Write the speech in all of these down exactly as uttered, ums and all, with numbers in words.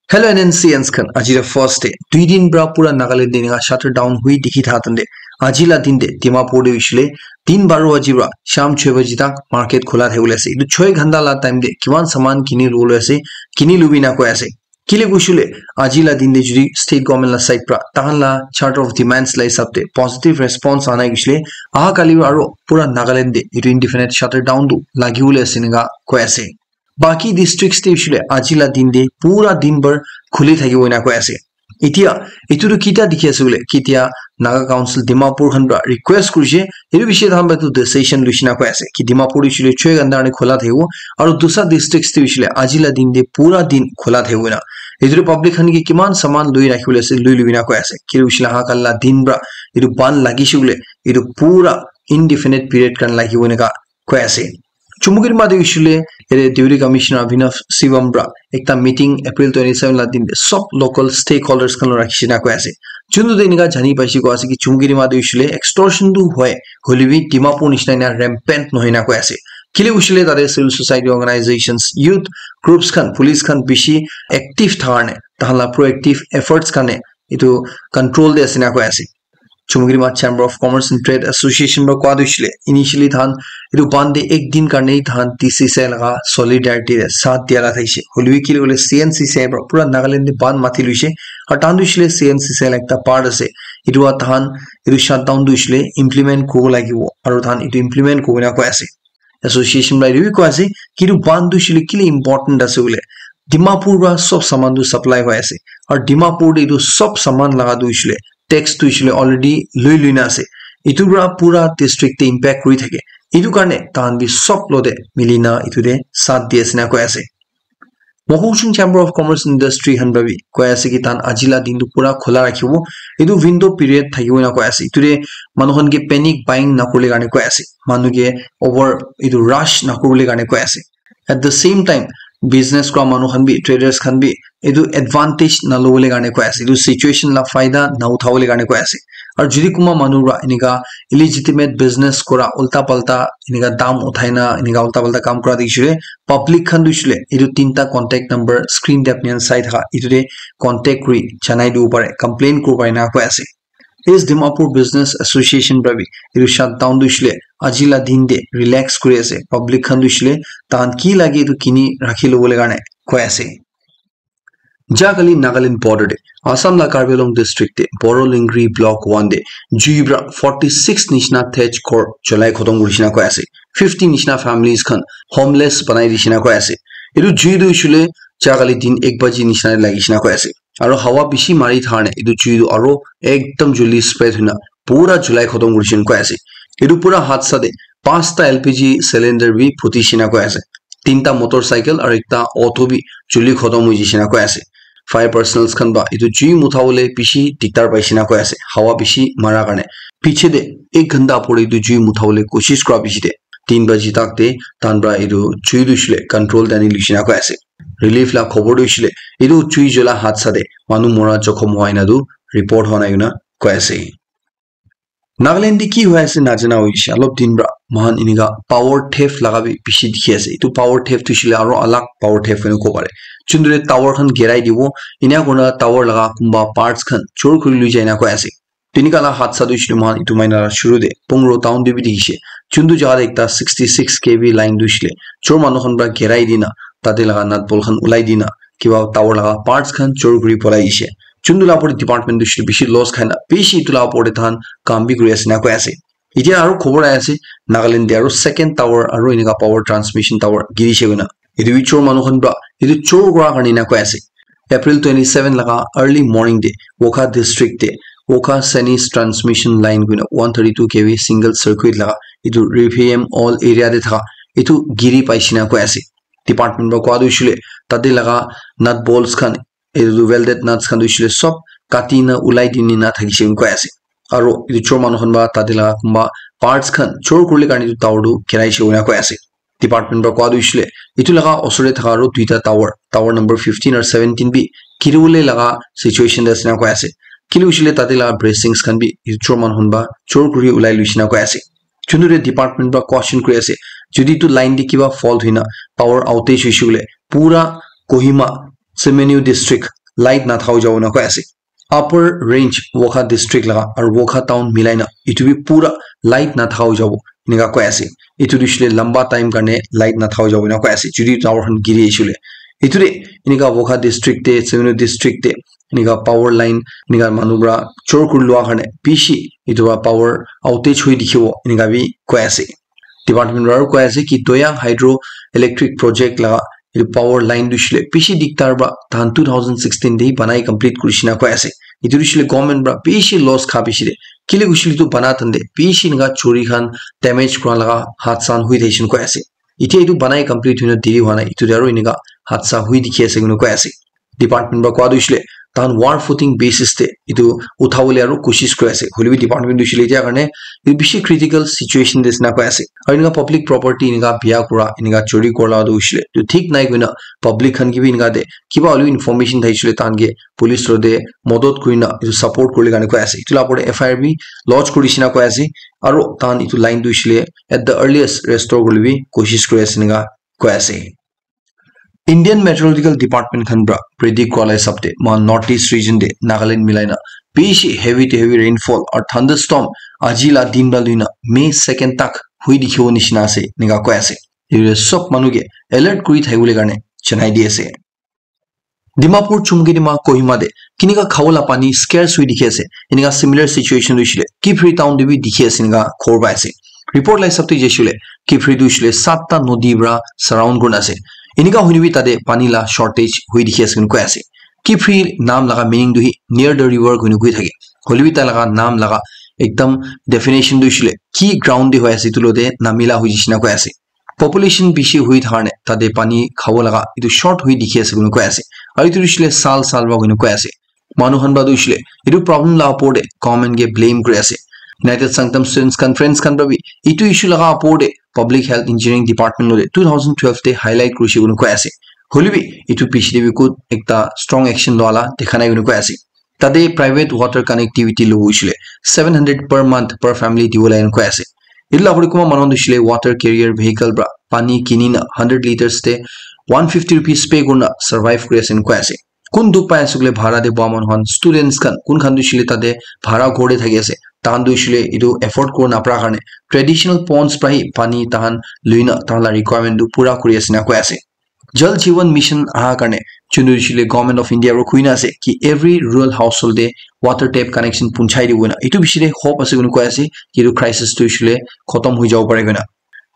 Hello N N C Ns khan, aji la first day. Dui din pra pura Nagaland te enika shutter down hui dikhi tha tante. Aji la din te Dimapur te hoishile tin baro baji pra sham chhe baji tak market khula thakibole ase. Etu choi ghanta la time te kiman saman kini lobole ase, kini lobi na koi ase. Kile koishile aji la din te jodi state government la side pra tahan la chart of demands la hisab te positive response anai koishile aha kali aro pura Nagaland te etu indefinite shutter down tu lagibole ase enika koi ase. Baki districts te hoishile aji la din te pura din bhar khuli thakibo ena koi ase. Etia etu tu kita dikhi ase bole, ketia Naga Council Dimapur khan pra request kurishe, etu bishe tahan pra etu decision luishe na koi ase ki Dimapur hoishile choi ghanta karne khula thakibo, aro dusra districts te hoishile aji la din te pura din khula thakibo ena. Etu tu public khan ke kiman saman lui rakhibole ase lui lui na koi ase. Kile hoishile aha kali la din pra etu ban lagishe bole etu pura indefinite period karne lagibo eneka koi ase. Chumukedima te hoishile ete Deputy Commissioner Abhinav Shivam pra ekta meeting April twenty seven la din te sob local stakeholders khan rakhishe na koi ase. Chuntu te enika jani paishe koi ase ki Chumukedima te hoishile extortion tu hoi, hoilebi Dimapur nishina ena rampant nohoi na koi ase. Kile hoishile tate civil society organizations, youth groups khan, police khan bishi active thakar ne, tahan la proactive efforts karne etu control te ase na koi ase. Chumukedima Chamber of Commerce and Trade Association pra koa tu hoishile initially tahan etu ban te ek din karne tahan T C C I laga solidarity te saath dia la thaishe. Hoilebi kile koile C N C C I pra pura Nagaland te ban mati luishe. Aru tahan tu hoishile C N C C I la ekta part ase. Etu wa tahan etu shutdown tu hoishile implement kuribo lagibo. Aru tahan etu implement kuribo na koi ase. Association pra etu bi koi ase ki etu ban tu hoishile kile important ase bole. Dimapur pra sob saman tu supply hoi ase. Aru Dimapur te etu sob saman laga tu hoishile tax tu hoishile already lui lui na ase. Etu pra pura district te impact kuri thake. Etu karne tahan bi sob logote mili na etu te saath di ase na koi ase. Mokokchung Chamber of Commerce Industry khan pra bi koi ase ki tahan aji la din tu pura khula rakhibo. Etu window period thakibo ena koi ase. Etu te manu khan ke panic buying nakurile karne koi ase. Manu ke over etu rush nakurile karne koi ase. At the same time, business kura manu khan bi, traders khan bi etu advantage nalobole karne koi ase. Etu situation la faida na uthabole karne koi ase. Aru jodi kunba manu pra enika illegitimate business kura, ulta palta enika dam uthai na enika ulta palta kam kura dikhi shile, public khan tu hoishile etu tinta contact number screen te apni khan sai thaka etu te contact kuri janai dibo pare, complain kuribo pare ena koi ase. East Dimapur Business Association pra bi etu shutdown tu hoishile aji la din te relax kuri ase, public khan tu hoishile tahan ki lage etu kini rakhi lobole karne koi ase. Jahakali Nagaland border te Assam la Karbi Anglong district te Boro Lingri block one te jui pra forty six nishina thatch ghor cholai khotom kurishe na koi ase. Fifty nishina families khan homeless banai dishe na koi ase. Etu jui tu hoishile jahakali din ek baji nishina te lagishe na koi ase. Aru hawa bishi mari thakar ne etu jui tu aru ekdam joldi spread hoina pura cholai khotom kurishe na koi ase. Etu pura hadsa te panchta L P G cylinder bi phutishe na koi ase. Tinta motorcycle aru ekta auto bi juli khotom hoi jaishe na koi ase. Fire personnels khan pra etu jui muthabole bishi diktar paishe na koi ase, hawa bishi mara karne. Piche te ek ghanta pore etu jui muthabole koshish kura piche te tin baji tak te tahan pra etu jui tu hoishile control te ani luishe na koi ase. Relief la khobor tu hoishile etu jui jola hadsa te manu mora jokhom hwa ena tu report hwa nai koina koi ase. Nagaland te ki hoi ase najana hoishe, olop din pra moikhan enika power theft laga bi bishi dikhi ase. Etu power theft tu hoishile aro alak power theft hoina kobo pare. Juntu te tower khan girai dibo, ena kurina tower laga kunba parts khan chor kuri lui jai na koi ase. Enika la hadsa tu hoishile moikhan etu mahina la shuru te Pungro town te bi dikhishe. Juntu jaga te ekta sixty six K V line tu hoishile chor manu khan pra girai dina tate laga nut bolt khan ulai dina kiba tower laga parts khan chor kuri polai dishe. Juntu la opor te department tu hoishile bishi loss khai na bishi etu la opor te tahan kam bi kuri ase na koi ase. Etia aro khobor ahi ase Nagaland te aro second tower aro enika power transmission tower girishe koina. Etu bi chor manu khan pra etu chor kura karne ena koi ase. April twenty seven laga early morning te Wokha district te Wokha Sanis transmission line koina one thirty two K V single circuit laga etu Riphiem all area te thaka etu giri paishe na koi ase. Department pra koa tu hoishile tate laga nut bolts khan etu welded nuts khan tu hoishile sob kati na ulai dine na thakishe koi ase. Aro etu chor manu khan pra tate laga kunba parts khan chor kuribole karne etu tower tu girai she koina koi ase. Department pra koa tu hoishile etu laga osor te thaka aro duita tower, tower number fifteen aro seventeen bi giribole laga situation te ase na koi ase. Kile hoishile tate laga bracings khan bi etu chor manu khan pra chor kuri ulai luishe na koi ase. Juntu te department pra question kuri ase, jodi etu line te kiba fault hoina power outage hoishe koile pura Kohima, Semenyu district light nathaka hoi jabo ena koi ase. Upper range Wokha district laga aru Wokha town milai na etu bi pura light nathaka hoi jabo enika koi ase. Etu tu hoishe le lamba time karne light nathaka hoi jabo ena koi ase, jodi tower khan giri ahise le. Etu te enika Wokha district te, Chivenu district te enika power line enika manu para chor kuri lua karne bishi etu para power outage hoi dikhibo enika bi koi ase. Department para koi ase ki Doyang Hydro Electric Project laga etu power line tu hoishe le bishi diktar para tahan two thousand sixteen te banai complete kurishe na koi ase. Etu tu hoishe le government para bishi loss kha bishi de. Kile hoishe le tu bana tande bishi enika chori khan damage kura laga hath san hui thakishe na koi ase. Etia etu banai complete hoina deri hua nai, etu te aru enika hath sa hui dikhi ase koina koi ase. Department para koa tu hoishe le tahan war footing basis te etu uthabole aru koshish kuri ase. Hoile bi department tu hoishe le etia karne etu bishi critical situation te ase na koi ase. Aru enika public property enika bia kura, enika chori kura la tu hoishe le etu thik nai koina public khan ke bi enika te kiba hoile bi information thakishe le tahan ke police lo te modot kurina etu support kuribole karne koi ase. Etu la opor te F I R bi lodge kurishe na koi ase. Aru tahan etu line tu hoishe le at the earliest restore kuribole bi koshish kuri ase enika koi ase. Indian Meteorological Department khan para predict kura la hisab te moikhan North East region te Nagaland milai na bishi heavy to heavy rainfall aru thunderstorm aji la din para lui na May second tak hui dikhibo nishina ase enika koi ase. Etu te sob manu ke alert kuri thakibole karne janai di ase. Dimapur, Chumkedima, Kohima te kinika khabo la pani scarce hui dikhi ase. Enika similar situation tu hoishe le Kiphire town te bi dikhi ase enika khobor pai ase. Report la hisab te jaishe le Kiphire tu hoishe le satta nodi para surround kurina ase. Enika hoina bi tate pani la shortage hui dikhi ase koina koi ase. Kiphire naam laga meaning tu hi near the river koina koi thake. Hoile bi tai laga naam laga ekdam definition tu hoishe le ki ground te hoi ase etu lo te namila hoi jaishe na koi ase. Population bishi hui thakar ne tate pani khabo laga etu short hui dikhi ase koina koi ase. Aru etu hoishe le sal sal para koina koi ase. Manu khan para tu hoishe le etu problem la opor te government ke blame kuri ase. United Sangtam Students Conference khan para bi etu issue laga opor te Public Health Engineering Department lo te two thousand twelve te highlight kurishe koina koi ase. Hoile bi etu piche te bi kot ekta strong action lua la dekha nai koina koi ase. Tate private water connectivity lobo hoishe le seven hundred per month per family dibo lage koina koi ase. Etu la opor te kunba manu khan tu hoishe le water carrier vehicle para pani kini na hundred liters te one fifty rupees pay kurina survive kuri ase koina koi ase. Kun dukh pai ase koile bhara te boha manu khan, students khan, kun khan tu hoishe le tate bhara ghor te thaki ase. Tahan tu hoishe le etu afford kuri napara karne traditional ponds para hi pani tahan lui na tahan la requirement tu pura kuri ase na koi ase. Jal Jeevan Mission aha karne chunu hoishe le Government of India para koi na ase ki every rural household te water tap connection punchai dibo na. Etu bishi te hope ase koina koi ase ki etu crisis tu hoishe le khotom hoi jabo pare koina.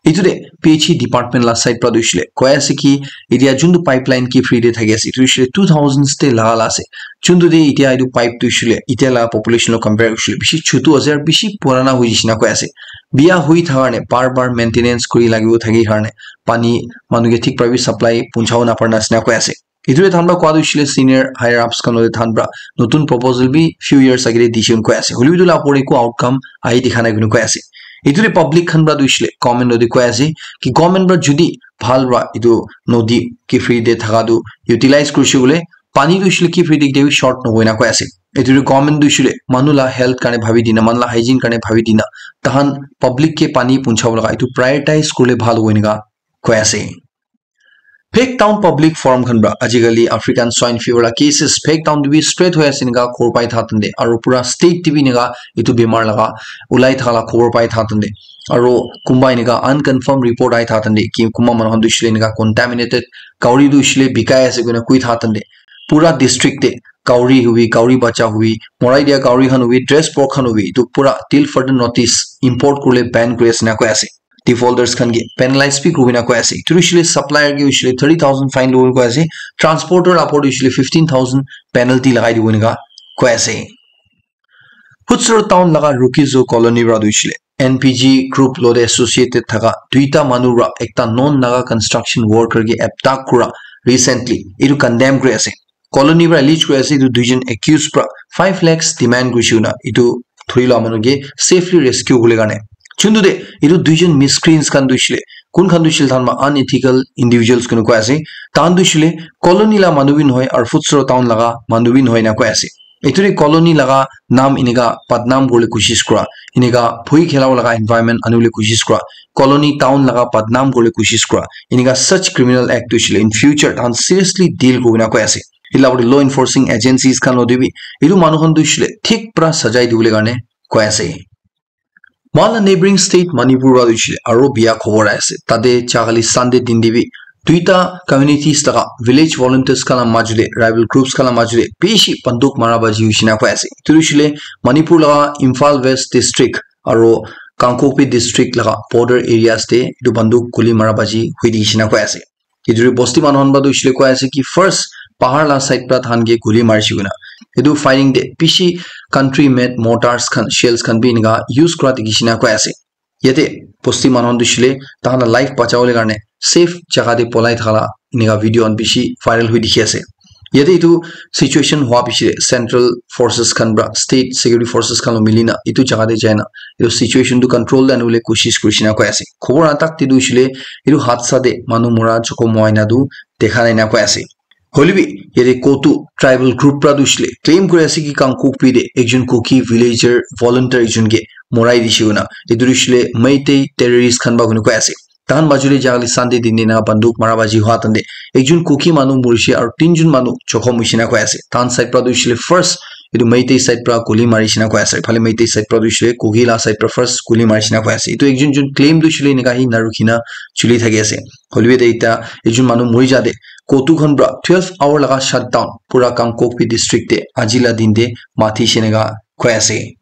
Etu te P H E department la side para tu hoishe le koi ase ki etia juntu pipeline Kiphire te thaki ase etu hoishe le two thousands te laga la ase. Juntu te etia etu pipe tu hoishe le etia la population lo compare hoishe le bishi chutu ase aru bishi purana hoi jaishe na koi ase. Bia hui thaka karne bar bar maintenance kuri lagibo thaki karne pani manu ke thik para bi supply punchabo napara nishina koi ase. Etu te tahan para koa tu hoishe le senior higher ups khan lo te tahan para notun proposal bi few years age te dishe koina koi ase. Hoile bi etu la opor te eku outcome ahi dikha nai koina koi ase. Etu te public khan para tu hoishe le government lo te koi ase ki government para jodi bhal para etu nodi Kiphire te thaka tu utilize kurishe koile pani tu hoishe le Kiphire te ketia bi short nohoi na koi ase. Etu te government tu hoishe le manu la health karne bhabi dina, manu la hygiene karne bhabi dina, tahan public ke pani punchabo laga etu prioritize kurile bhal hobo enika koi ase. Phek Town Public Forum khan para ajikali African Swine Fever la cases Phek Town te bi spread hoi ase enika khobor pai thaka tante aru pura state te bi enika etu bimar laga ulai thaka la khobor pai thaka tante aru kunba enika unconfirmed report ahi thaka tante ki kunba manu khan tu hoishe le enika contaminated kauri tu hoishe le bikai ase koina koi thaka tante pura district te kauri hobi, kauri bacha hobi, morai dia kauri khan hobi, dress pork khan hobi, etu pura till further notice import kurile ban kuri ase na koi ase. Defaulters khan ke penalize bi kuribole na koi ase. Etu hoishe le supplier ke hoishe le thirty thousand fine lobole koi ase. Transporter upor te hoishe le fifteen thousand penalty lagai dibo enika koi ase. Futsero town laga Rukizo colony para tu hoishe le N P G group lo te associated thaka duita manu para ekta non Naga construction worker ke attack kura recently etu condemn kuri ase. Colony para allege kuri ase etu duijon accused para five lakhs demand kurishe koina etu thuri loa manu ke safely rescue kuribole karne. Chuntu te etu duijon miscreants khan tu hoishe le kun khan tu hoishe le tahan para unethical individuals koina koi ase. Tahan tu hoishe le colony la manu bi nohoi aru Futsero town laga manu bi nohoi na koi ase. Etu te colony laga naam enika badnaam kuribole koshish kura, enika bhoi khela laga environment anibole koshish kura, colony town laga badnaam kuribole koshish kura, enika such criminal act tu hoishe le in future tahan seriously deal kuribole na koi ase. Etu la law enforcing agencies khan lo te bi etu manu khan tu hoishe le thik pra sajai dibole karne koi ase. Moikhan la neighboring state Manipur wa hoishe le aro biya khobor ase. Tate jahali Sunday din te bi duita communities laga village volunteers khan la majo te, rival groups khan la majo te bishi banduk mara baji hoishe na koi ase. Etu hoishe le Manipur laga Imphal West district aro Kangpokpi district laga border areas te etu banduk guli mara baji hoi di hoishe na koi ase. Etu tu bosti manu khan para tu hoishe le koi ase ki first bahar la side para tahan ke guli marishe koina. Etu firing te bishi country made mortars khan, shells khan bi enika use kura dikhi shina koi ase. Yate bosti manu khan tu hoishe le tahan la life bachawole karne safe jaga te polai thaka la enika video khan bishi viral hoi dikhi ase. Yate etu situation hua piche central forces khan para state security forces khan lo mili na etu jaga te jai na etu situation tu control te anibole koshish kuri shina koi ase. Khobor atak te tu hoishe le etu hadsa te manu mura jokhom hua ena tu dekha nai na koi ase. Hoile bi yate COTU tribal group para tu hoishe le claim kuri ase ki Kangpokpi te ekjon Kuki villager volunteer ekjon ke morai dishe koina. Etu tu hoishe le Meitei terrorist khan para koina koi ase. Tahan majo te jahali Sunday din te na banduk mara baji hua tante ekjon Kuki manu morishe aro tinjon manu jokhom hoishe na koi ase. Tahan side para tu hoishe le first etu Meitei side para guli marishe na koi ase. Phale Meitei side para tu hoishe le Kuki la side para first guli marishe na koi ase. Etu ekjon jun claim tu hoishe le enika hi na rukhi na chuli thaki ase. Hoile bi ete ekta ekjon manu muri ja te COTU khan para twelve hour laga shutdown pura Kangpokpi district te aji la din te mathi she enika koi ase.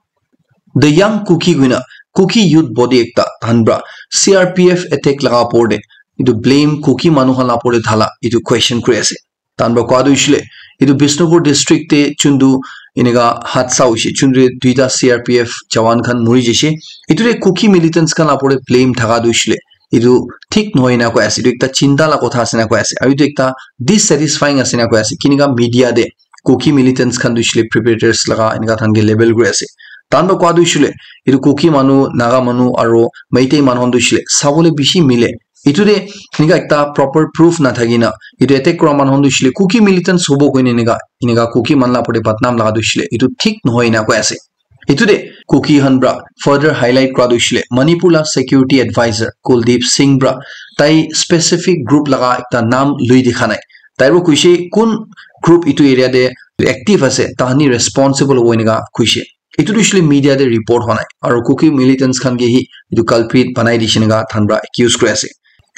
The Young Kuki koina Kuki youth body ekta tahan para C R P F attack laga opor te etu blame Kuki manu khan la opor te dhala etu question kuri ase. Tahan para koi tu hoishe le etu Bishnupur district te chuntu enika hadsa hoishe, chuntu duita C R P F jawan khan muri jaishe. Etu te Kuki militants khan la opor te blame thaka tu hoishe le etu thik nohoi na koi ase. Etu ekta chinta la kotha ase na koi ase. Aru etu ekta dissatisfying ase na koi ase. Kinika media te Kuki militants khan tu hoishe le preparators laga enika tahan ke label kuri ase. Tahan para koi tu hoishe le etu Kuki manu, Naga manu aro Meitei manu khan tu hoishe le sabole bishi mile. Etu te enika ekta proper proof na thaki na etu attack kura manu khan tu hoishe le Kuki militants hobo koina enika, enika Kuki manu la opor te badnam laga tu hoishe le etu thik nohoi na koi ase. Etu te Kuki khan para further highlight kura tu hoishe le Manipur la security advisor Kuldeep Singh para tai specific group laga ekta naam lui dikha nai. Tai para koishe kun group etu area te active ase, tahan hi responsible hobo enika koishe. Etu tu hoishe le media te report hua nai. Aro Kuki militants khan ke hi etu culprit banai dishe enika tahan para accuse kuri ase.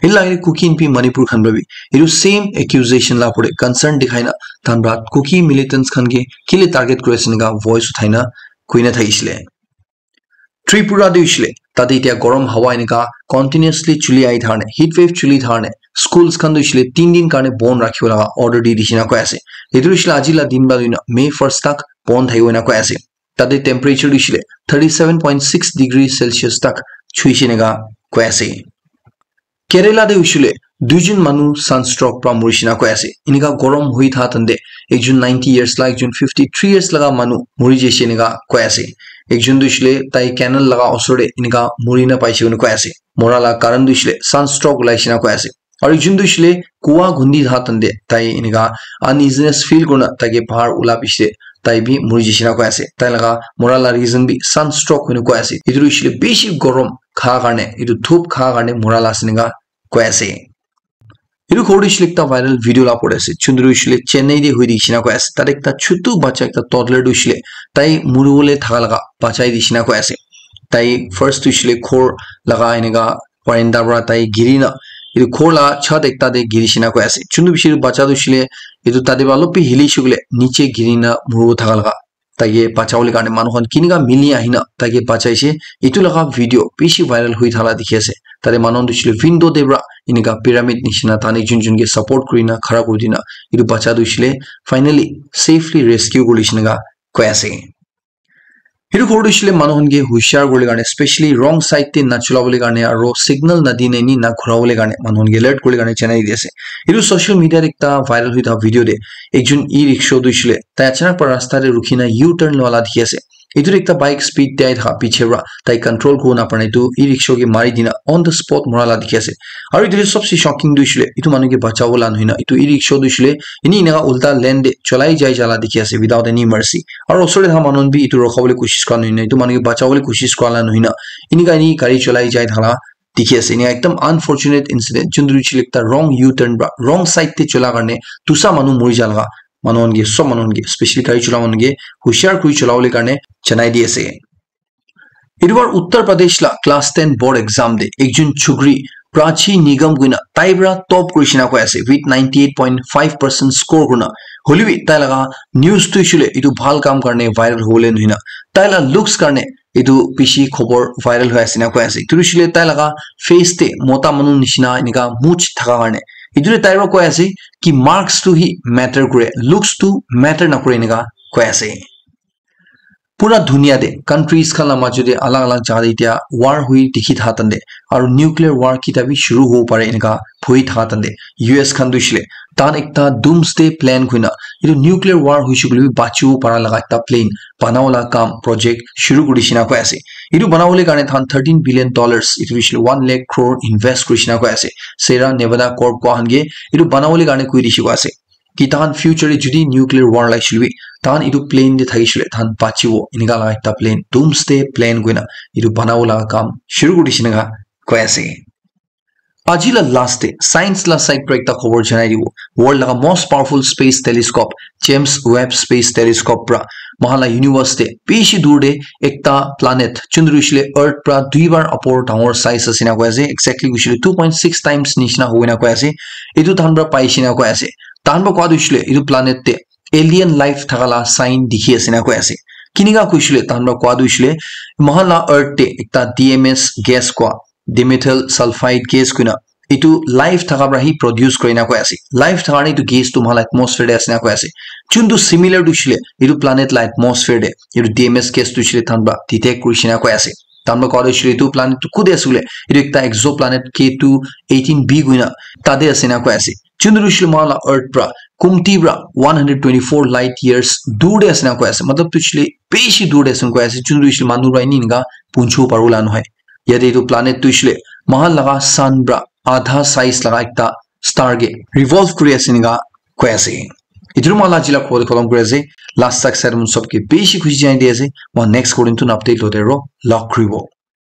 Etu la agey te Kuki Inpi Manipur khan para bi etu same accusation la opor te concern dikhai na tahan para Kuki militants khan ke kile target kuri ase enika voice uthai na koi na thakishe le. Tripura tu hoishe le tate etia gorom hawa enika continuously chuli ahi thaka karne, heat wave chuli thaka karne schools khan tu hoishe le tin din karne bon rakhibo laga order di dishe na koi ase. Etu tu hoishe le aji la din para loi na May first tak bon thakibo enika koi ase. Tate temperature tu hoishe le thirty seven point six degree Celsius tak chuishe enika koi ase. Kerala te hoishe le duijon manu sunstroke para morishe enika koi ase. Enika gorom hoi thaka tante ekjon ninety years la, ekjon fifty three years laga manu muri jaishe enika koi ase. Ekjon tu hoishe le tai canal laga osor te enika muri na paishe koina koi ase. Mora la karan tu hoishe le sunstroke ulaishe enika koi ase. Aro ekjon tu hoishe le kua gundi thaka tante tai enika uneasiness feel kurina tai ke bahar ula piche te tai bi muri jaishe enika koi ase. Tai laga mora la reason bi sunstroke hoina koi ase. Etu tu hoishe le bishi gorom kha karne, etu dhup kha karne mora la ase enika koi ase. Etu khobor tu hoishe le ekta viral video la opor te ase. Chundru hoishe le Chennai te hoi di shina koi ase. Tate ekta chutu bacha ekta toddler tu hoishe le tai muribole thaka laga bachai di shina koi ase. Tai first tu hoishe le ghor laga enika veranda para tai giri na etu ghor la chhat ekta te giri shina koi ase. Chundru bishi bacha tu hoishe le etu tate para olop bi hili shey koile niche giri na muribo thaka laga. Taike bachabole karne manu khan kinika mili ahina taike bachaise. Etu laga video bishi viral hoi thala dikhi ase. Tate manu khan tu hoishe le window te para enika pyramid nishina tahan ekjon ekjon ke support kurina khara kuri dina etu bacha tu hoishe le finally safely rescue kuri lishe enika koi ase. Etu khobor tu hoishe le manu khan ke hushar kuribole karne, specially wrong side te nachulabole karne aro signal nadina eni naghurabole karne manu khan ke alert kuribole karne janai di ase. Etu social media te ekta viral hoi thaka video te ekjon e-rickshaw tu hoishe le tai achanak para rasta te rukhi na U-turn loa la dikhi ase. Etu tu ekta bike speed te ahi thaka piche para tai control kuribo napare na etu e-rickshaw ke mari dina on the spot mora la dikhi ase. Aru etu tu sobse shocking tu hoishe le etu manu ke bachabo la nohoi na etu e-rickshaw tu hoishe le eni eneka ulta lane te cholai jai ja la dikhi ase without any mercy. Aru osor te thaka manu khan bi etu rukha bole koshish kura nohoi na etu manu ke bachabo le koshish kura la nohoi na eneka eni gari cholai jai thaka la dikhi ase. Eneka ekdam unfortunate incident, juntu hoishe le ekta wrong U-turn para wrong side te chola karne dusa manu mori ja laga manu khan ke, sob manu khan ke, especially gari chola manu ke hushar kuri chola bole karne janai di ase. Etu bar Uttar Pradesh la class ten board exam de ekjun chukri Prachi Nigam kuina tai para top kuri shina koi ase with ninety eight point five percent score kurina. Hoilebi tai laga news tu hoishe koile etu bhal kam karne viral hobole nohoi na, tai la looks karne etu bishi khobor viral hoi ase na koi ase. Etu hoishe koile tai laga face te mota manu nishina enika much thaka karne. Etu te tai para koi ase ki marks tu hi matter kore, looks tu matter nakore enika koi ase. Pura dunia te countries khan la majo te alag alag jaga te etia war hui dikhi thakan de, aru nuclear war kita bi shuru hobo pare enika bhoi thakan de, U S khan tu hoishe koile tahan ekta doomsday plan kuina etu nuclear war hoishe koile bi bachibo para laga ekta plan banabo la kam project shuru kuri dishina koi ase. Etu banabole karne tahan thirteen billion dollars, etu hoishe koile one lakh crore invest kuri shina koi ase. Sierra Nevada Corp koi khan ke etu banabole karne koi dishe koi ase ki tahan future te jodi nuclear war lagishe koile bi tahan etu plan te thakishe koile tahan bachibo enika laga ekta plan, doomsday plan kuina etu banabo laga kam shuru kuri dishe enika koi ase. Aji la last te science la side para ekta khobor janai dibo. World laga most powerful space telescope, James Webb Space Telescope para moikhan la universe te bishi dur te ekta planet, chundru hoishe koile earth para dui bar upor dangor size ase na koi ase, exactly hoishe koile two point six times nishina hoina koi ase. Etu tahan para paishe na koi ase. Tahan para koa tu hoishe koile etu planet te alien life thaka la sign dikhi ase na koi ase. Kinika koishe koile tahan para koa tu hoishe koile moikhan la earth te ekta D M S gas koa, dimethyl sulfide gas kuina etu life thaka para hi produce kore na koi ase. Life thaka karne etu gas tu moikhan la atmosphere te ase na koi ase. Chuntu similar tu hoishe koile etu planet la atmosphere te etu D M S gas tu hoishe koile tahan para detect kuri shina koi ase. Tahan para koa tu hoishe koile etu planet tu kute ase koile etu ekta exoplanet K two eighteen b kuina tate ase na koi ase. Chuntu hoishe koile moikhan la earth para kumti para one hundred twenty four light years dur te ase na koi ase. Matlab tu hoishe koile bishi dur te ase na koi ase. Chuntu hoishe koile manu para enika punchibo paribo la nohoi. Yate etu planet tu hoishe koile moikhan laga sun para adha size laga ekta star ke revolve kuri ase enika koi ase. Etu para moikhan la aji la khobor tu khatam kuri ase. Last tak side mon sob ke bishi khushi janai di ase. Moikhan next khobor tu update lote aro log kuribo.